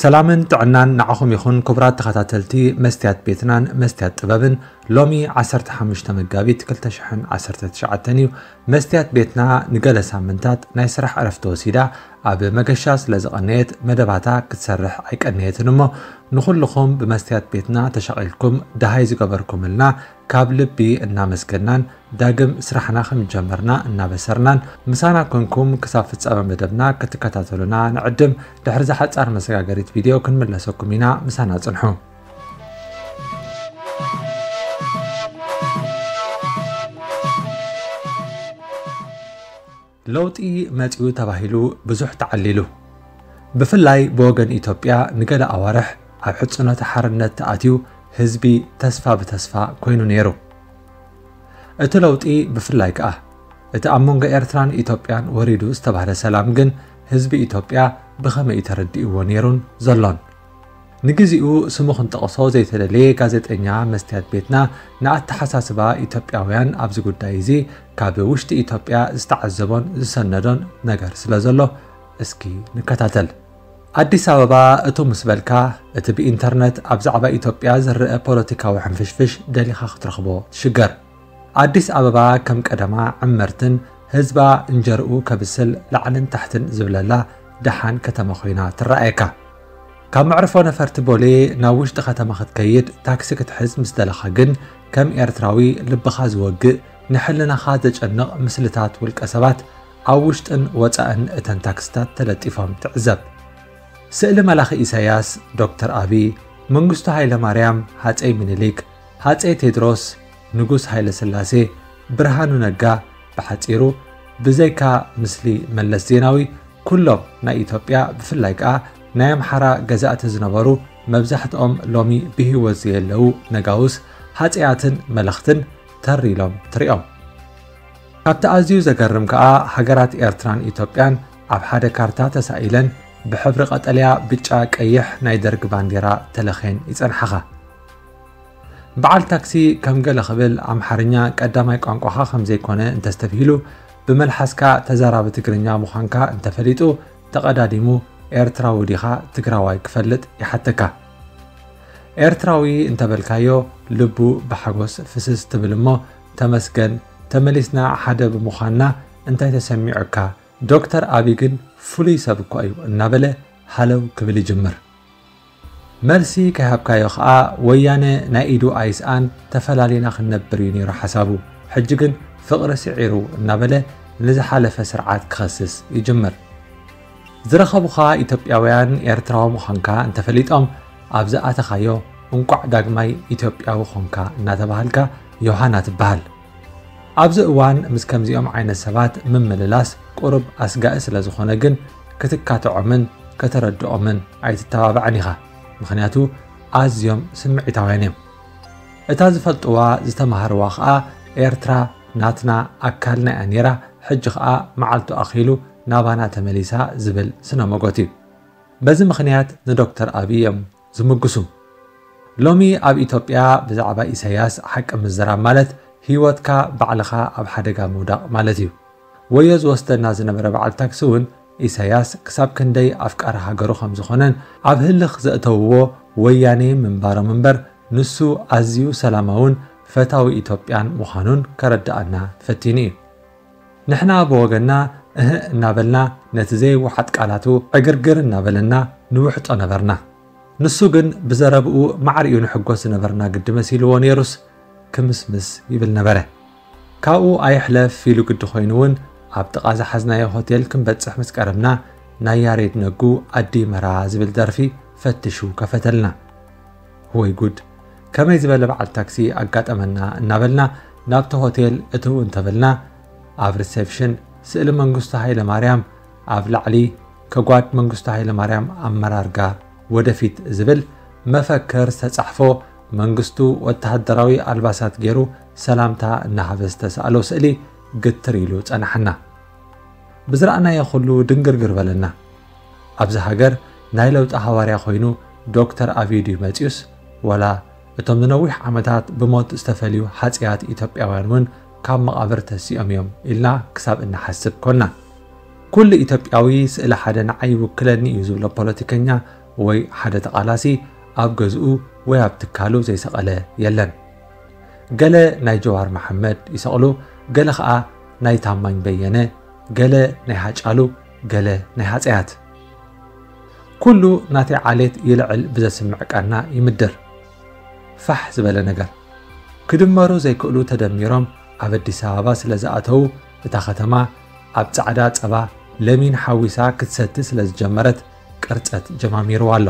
ሰላምን ጥዕናን ንዓኹም ይኹን ክቡራት ተኸታተልቲ መስትያት ቤትናን መስትያት ጥበብን። ሎሚ ዓሰርተ ሓሙሽተ መጋቢት ክልተ ሽሕን ዓሰርተ ትሽዓተን እዩ። መስትያት ቤትና ንገለ ሳምንታት ናይ ስራሕ ዕረፍቲ ወሲዳ ኣብ መገሻ ስለ ዝቐነየት መደባታ ክትሰርሕ ኣይቀነየትን እሞ ንኹልኹም ብመስትያት ቤትና ተሻቒልኩም ደሃይ ዝገበርኩምልና ካብ ልቢ እናመስገናን ዳግም ስራሕና ከም ጀመርና እናበሰርናን ምሳና ኮንኩም ክሳብ ፍጻመ መደብና ክትከታተሉና ንዕድም። ድሕሪ እዛ ሓጻር መሰጋገሪት ቪድዮ ክንምለሰኩም ኢና። ምሳና ጽንሑ። ለውጢ መጺኡ ተባሂሉ ብዙሕ ተዓሊሉ። ብፍላይ ብወገን ኢትዮጵያ ንገለ ኣዋርሕ ኣብ ሕጽኖተ ሓርነት ተኣትዩ ህዝቢ ተስፋ ብተስፋ ኮይኑ ነይሩ። እቲ ለውጢ ብፍላይ ከኣ እቲ ኣብ መንጎ ኤርትራን ኢትዮጵያን ወሪዱ ዝተባህለ ሰላም ግን ህዝቢ ኢትዮጵያ ብኸመይ እዩ ተረዲእዎ ነይሩን ዘሎን? ንግዚኡ ስሙ ክንጠቕሶ ዘይተደልየ ጋዜጠኛ መስትያት ቤትና ንኣተሓሳስባ ኢትዮጵያውያን ኣብዚ ጉዳይ እዚ ካብ ውሽጢ ኢትዮጵያ ዝተዓዘቦን ዝሰነዶን ነገር ስለ ዘሎ እስኪ ንከታተል። ኣዲስ ኣበባ እቱ ምስ በልካ እቲ ብኢንተርነት ኣብ ዛዕባ ኢትዮጵያ ዝረአ ፖለቲካዊ ሕንፍሽፍሽ ደሊኻ ክትረኽቦ ትሽገር። ኣዲስ ኣበባ ከም ቀደማ ዕመርትን ህዝባ እንጀርኡ ከብስል ላዕልን ታሕትን ዝብለላ ደሓን ከተማ ኮይና ትረኣየካ። ካብ መዕርፎ ነፈርቲ ቦሌ ናብ ውሽጢ ከተማ ክትከይድ ታክሲ ክትሕዝ ምስ ደለኻ ግን ከም ኤርትራዊ ልብኻ ዝወግእ ንሕልናኻ ዘጨንቕ ምስልታት ውልቀ ሰባት ኣብ ውሽጥን ወጻእን እተን ታክስታት ተለጢፎም ትዕዘብ። ስእሊ መላኺ ኢሳያስ፣ ዶክተር ኣቢ፣ መንግስቱ ሃይለማርያም፣ ሃጸይ ምኒልክ፣ ሃጸይ ቴድሮስ፣ ንጉስ ሃይለ ስላሴ፣ ብርሃኑ ነጋ፣ ብሓጺሩ ብዘይካ ምስሊ መለስ ዜናዊ ኩሎም ናይ ኢትዮጵያ ብፍላይ ከኣ ናይ ኣምሓራ ገዛእቲ ዝነበሩ መብዛሕትኦም ሎሚ ብህይወት ዘየለዉ ነጋውስ ሃጸያትን መለኽትን ተር ኢሎም ትሪኦም። ካብቲ ኣዝዩ ዘገርም ከኣ ሃገራት ኤርትራን ኢትዮጵያን ኣብ ሓደ ካርታ ተሳኢለን ብሕብሪ ቀጠልያ፣ ብጫ፣ ቀይሕ ናይ ደርግ ባንዴራ ተለኽየን ይጸንሓኻ። በዓል ታክሲ ከም ገለ ክብል ኣምሓርኛ ቀዳማይ ቋንቋኻ ከም ዘይኮነ እንተስተብሂሉ ብመልሓስካ ተዛራቢ ትግርኛ ምዃንካ እንተፈሊጡ ተቐዳዲሙ ኤርትራዊ ዲኻ ትግራዋይ ክፈልጥ ይሓተካ። ኤርትራዊ እንተበልካዮ ልቡ ብሓጎስ ፍስስ ትብል እሞ ተመስገን ተመሊስና ሓደ ብምዃንና እንታይ ተሰሚዑካ? ዶክተር ኣቢ ግን ፍሉይ ሰብ እኮ እዩ እናበለ ሃለው ክብል ይጅምር። መልሲ ከይሃብካዮ ኸኣ ወያነ ናይ ኢዱ ኣይስኣን ተፈላሊና ክንነብር እዩ ነይሩ ሓሳቡ። ሕጂ ግን ፍቕሪ ስዒሩ እናበለ ንዝሓለፈ ስርዓት ክኸስስ ይጅምር። ዝረኸቡኻ ኢትዮጵያውያን ኤርትራዊ ምዃንካ እንተፈሊጦም ኣብ ዝኣተኻዮ እንቋዕ ዳግማይ ኢትዮጵያዊ ኾንካ እናተባሃልካ ዮሃና ትበሃል። ኣብዚ እዋን ምስ ከምዚኦም ዓይነት ሰባት ምምልላስ ቁሩብ ኣስጋኢ ስለ ዝኾነ ግን ክትካትዖምን ከተረድኦምን ኣይትተባባዕን ኢኻ። ምኽንያቱ ኣዝዮም ስምዒታውያን እዮም። እታ ዝፈልጥዋ ዝተማሃርዋ ኸኣ ኤርትራ ናትና ኣካልና እያ ነይራ፣ ሕጂ ኸኣ መዓልቱ ኣኺሉ ናባና ተመሊሳ ዝብል ስነ መጎት እዩ። በዚ ምኽንያት ንዶክተር ኣብይ እዮም ዝምግሱ። ሎሚ ኣብ ኢትዮጵያ ብዛዕባ ኢሳያስ ሓቂ ምዝራብ ማለት ህይወትካ ባዕልኻ ኣብ ሓደጋ ምውዳቕ ማለት እዩ። ወዮ ዝወስደና ዝነበረ በዓል ታክሲ እውን ኢሳያስ ክሳብ ክንደይ ኣፍቃሪ ሃገሩ ከም ዝኾነን ኣብ ህልኽ ዘእተውዎ ወያኔ ምንባሮም እምበር ንሱ ኣዝዩ ሰላማውን ፈታዊ ኢትዮጵያን ምዃኑን ከረድኣና ፈቲኑ እዩ። ንሕና ብወገንና እህእ እናበልና ነቲ ዘይወሓጥ ቃላቱ ዕግርግር እናበለና ንውሕጦ ነበርና። ንሱ ግን ብዘረብኡ ማዕሪኡ ንሕጎስ ዝነበርና ግዲ መሲልዎ ነይሩስ ክምስምስ ይብል ነበረ። ካብኡ ኣይሕለፍ ኢሉ ግዲ ኮይኑ እውን ኣብ ጥቓ ዝሓዝናዮ ሆቴል ክንበጽሕ ምስ ቀረብና ናይ ያሬድ ነጉ ኣዲ መራ ዝብል ደርፊ ፈትሹ ከፈተልና። ወይ ጉድ! ከመይ ዝበለ በዓል ታክሲ ኣጋጠመና እናበልና ናብቲ ሆቴል እትው እንተበልና ኣብ ሪሴፕሽን ስእሊ መንግስቱ ሃይለማርያም ኣብ ላዕሊ ከጓድ መንግስቱ ሃይለማርያም ኣመራርጋ ወደፊት ዝብል መፈክር ዝተጻሕፎ መንግስቱ ወተሃደራዊ ኣልባሳት ገይሩ ሰላምታ እናሃበ ዝተሳእሎ ስእሊ ግትር ኢሉ ጸናሓና። ብዝረኣናዮ ኩሉ ድንግርግር በለና። ኣብዚ ሃገር ናይ ለውጢ ሃዋርያ ኮይኑ ዶክተር ኣብይ ድዩ መጺኡስ ዋላ እቶም ንነዊሕ ዓመታት ብሞት ዝተፈልዩ ሃጽያት ኢትዮጵያውያን እውን ካብ መቓብር ተሲኦም እዮም ኢልና ክሳብ እንሓስብ ኮና። ኩሉ ኢትዮጵያዊ ስእሊ ሓደ ንዓይ ይውክለኒ እዩ ዝብሎ ፖለቲከኛ ወይ ሓደ ተቓላሲ ኣብ ገዝኡ ወይ ኣብ ትካሉ ዘይሰቐለ የለን። ገለ ናይ ጀዋር መሓመድ ይሰቕሉ፣ ገለ ኸኣ ናይ ታማኝ በየነ፣ ገለ ናይ ሃጫሉ፣ ገለ ናይ ሃጸያት። ኩሉ ናተይ ዓሌት ይልዕል ብዘስምዕ ቃና ይምድር። ፋሕ ዝበለ ነገር። ክድመሩ ዘይክእሉ ተደሚሮም ኣብ ኣዲስ ኣበባ ስለ ዝኣተዉ፣ እታ ከተማ ኣብ ጻዕዳ ጸባ ለሚን ሓዊሳ ክትሰቲ ስለ ዝጀመረት ቅርጸት ጀማሚርዋ ኣሎ።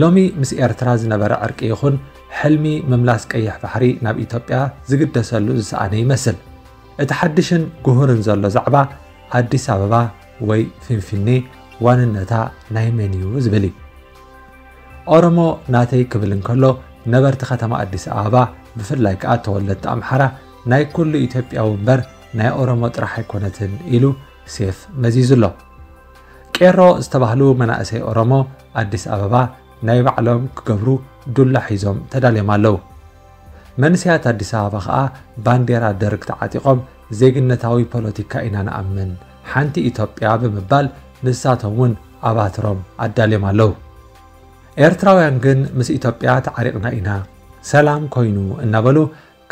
ሎሚ ምስ ኤርትራ ዝነበረ ዕርቂ ይኹን ሕልሚ ምምላስ ቀይሕ ባሕሪ ናብ ኢትዮጵያ ዝግደሰሉ ዝሰኣነ ይመስል። እቲ ሓድሽን ጉሁርን ዘሎ ዛዕባ ኣዲስ ኣበባ ወይ ፊንፊኔ ዋንነታ ናይ መን እዩ ዝብል እዩ። ኦሮሞ ናተይ ክብል እንከሎ ነበርቲ ከተማ ኣዲስ ኣበባ ብፍላይ ከኣ ተወለድቲ ኣምሓራ ናይ ኩሉ ኢትዮጵያዊ እምበር ናይ ኦሮሞ ጥራሕ ኣይኮነትን ኢሉ ሴፍ መዚዙ ኣሎ። ቄሮ ዝተባህሉ መናእሰይ ኦሮሞ ኣዲስ ኣበባ ናይ ባዕሎም ክገብሩ ዱላ ሒዞም ተዳልዮም ኣለዉ። መንእሰያት ኣዲስ ኣበባ ኸኣ ባንዴራ ደርግ ተዓጢቖም ዜግነታዊ ፖለቲካ ኢና ንኣምን፣ ሓንቲ ኢትዮጵያ ብምባል ንሳቶም እውን ኣባትሮም ኣዳልዮም ኣለዉ። ኤርትራውያን ግን ምስ ኢትዮጵያ ተዓሪቕና ኢና፣ ሰላም ኮይኑ እናበሉ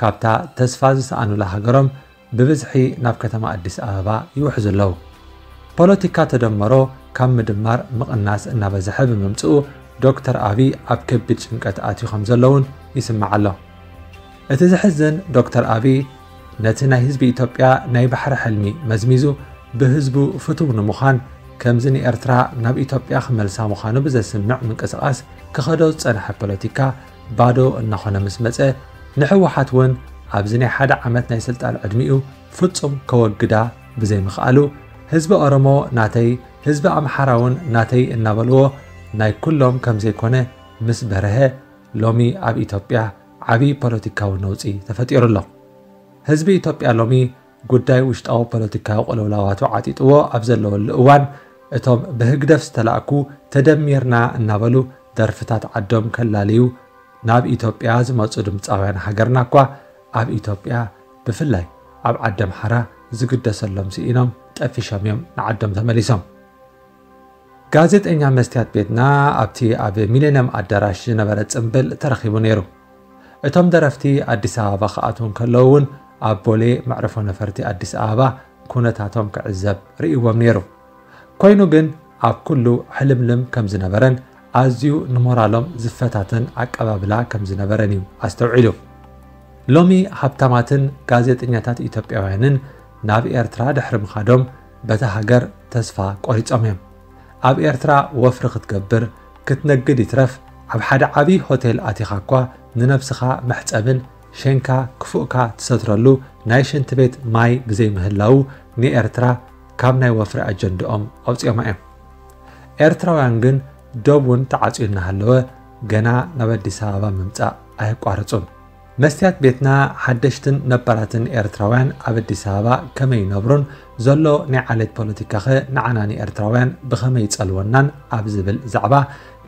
ካብታ ተስፋ ዝሰኣኑላ ሃገሮም ብብዝሒ ናብ ከተማ ኣዲስ ኣበባ ይውሕዙ ኣለዉ። ፖለቲካ ተደመሮ ካብ ምድማር ምቕናስ እናበዝሐ ብምምጽኡ ዶክተር ኣብይ ኣብ ከቢድ ጭንቀት ኣትዩ ከም ዘለውን ይስማዕ ኣሎ። እቲ ዘሕዝን ዶክተር ኣብይ ነቲ ናይ ህዝቢ ኢትዮጵያ ናይ ባሕሪ ሕልሚ መዝሚዙ ብህዝቡ ፍቱው ንምዃን ከምዚ ንኤርትራ ናብ ኢትዮጵያ ክመልሳ ምዃኑ ብዘስምዕ ምንቅስቓስ ክኸዶ ዝጸንሐ ፖለቲካ ባዶ እናኾነ ምስ መጸ ንህወሓት እውን ኣብዚ ናይ ሓደ ዓመት ናይ ስልጣን ዕድሚኡ ፍጹም ከወግዳ ብዘይምኽኣሉ ህዝቢ ኦሮሞ ናተይ ህዝቢ ኣምሓራ እውን ናተይ እናበልዎ ናይ ኩሎም ከም ዘይኮነ ምስ በርሀ ሎሚ ኣብ ኢትዮጵያ ዓብዪ ፖለቲካዊ ነውጺ ተፈጢሩ ኣሎ። ህዝቢ ኢትዮጵያ ሎሚ ጉዳይ ውሽጣዊ ፖለቲካዊ ቅልውላዋቱ ዓጢጥዎ ኣብ ዘለወሉ እዋን እቶም ብህግደፍ ዝተላእኩ ተደሚርና እናበሉ ደርፍታት ዓዶም ከላልዩ ናብ ኢትዮጵያ ዝመጹ ድምጻውያን ሃገርና እኳ ኣብ ኢትዮጵያ ብፍላይ ኣብ ዓዲ ኣምሓራ ዝግደሰሎም ስኢኖም ጠፊሾም እዮም ንዓዶም ተመሊሶም። ጋዜጠኛ መስትያት ቤትና ኣብቲ ኣብ ሚሌንየም ኣዳራሽ ዝነበረ ጽምብል ተረኺቡ ነይሩ። እቶም ደረፍቲ ኣዲስ ኣበባ ክኣትዉ እንከለዉ እውን ኣብ ቦሌ መዕርፎ ነፈርቲ ኣዲስ ኣበባ ኩነታቶም ክዕዘብ ርእይዎም ነይሩ። ኮይኑ ግን ኣብ ኩሉ ሕልምልም ከም ዝነበረን ኣዝዩ ንሞራሎም ዝፈታተን ኣቀባብላ ከም ዝነበረን እዩ ኣስተውዒሉ። ሎሚ ሃብታማትን ጋዜጠኛታት ኢትዮጵያውያንን ናብ ኤርትራ ድሕሪ ምኻዶም በታ ሃገር ተስፋ ቆሪጾም እዮም። ኣብ ኤርትራ ወፍሪ ክትገብር ክትነግድ ይትረፍ ኣብ ሓደ ዓብዪ ሆቴል ኣቲኻ እኳ ንነብስኻ መሕጸብን ሸንካ ክፉእካ ትሰትረሉ ናይ ሽንቲ ቤት ማይ ብዘይምህላዉ ንኤርትራ ካብ ናይ ወፍሪ ኣጀንድኦም ኣውጺኦማ እዮም። ኤርትራውያን ግን ዶብ እውን ተዓጽዩ እናሃለወ ገና ናብ ኣዲስ ኣበባ ምምጻእ ኣየቋረጹን። መስትያት ቤትና ሓደሽትን ነባራትን ኤርትራውያን ኣብ ኣዲስ ኣበባ ከመይ ይነብሩን ዘሎ ናይ ዓሌት ፖለቲካኸ ንዓና ንኤርትራውያን ብኸመይ ይጸልወናን ኣብ ዝብል ዛዕባ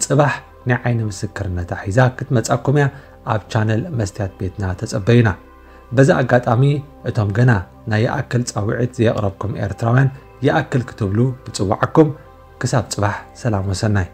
ጽባሕ ናይ ዓይኒ ምስክርነታ ሒዛ ክትመጻኩም እያ። ኣብ ቻነል መስትያት ቤትና ተጸበዩና። በዚ ኣጋጣሚ እቶም ገና ናይ ይኣክል ጻውዒት ዘየቕረብኩም ኤርትራውያን ይኣክል ክትብሉ ንጽውዓኩም። ክሳብ ጽባሕ ሰላም ወሰናይ።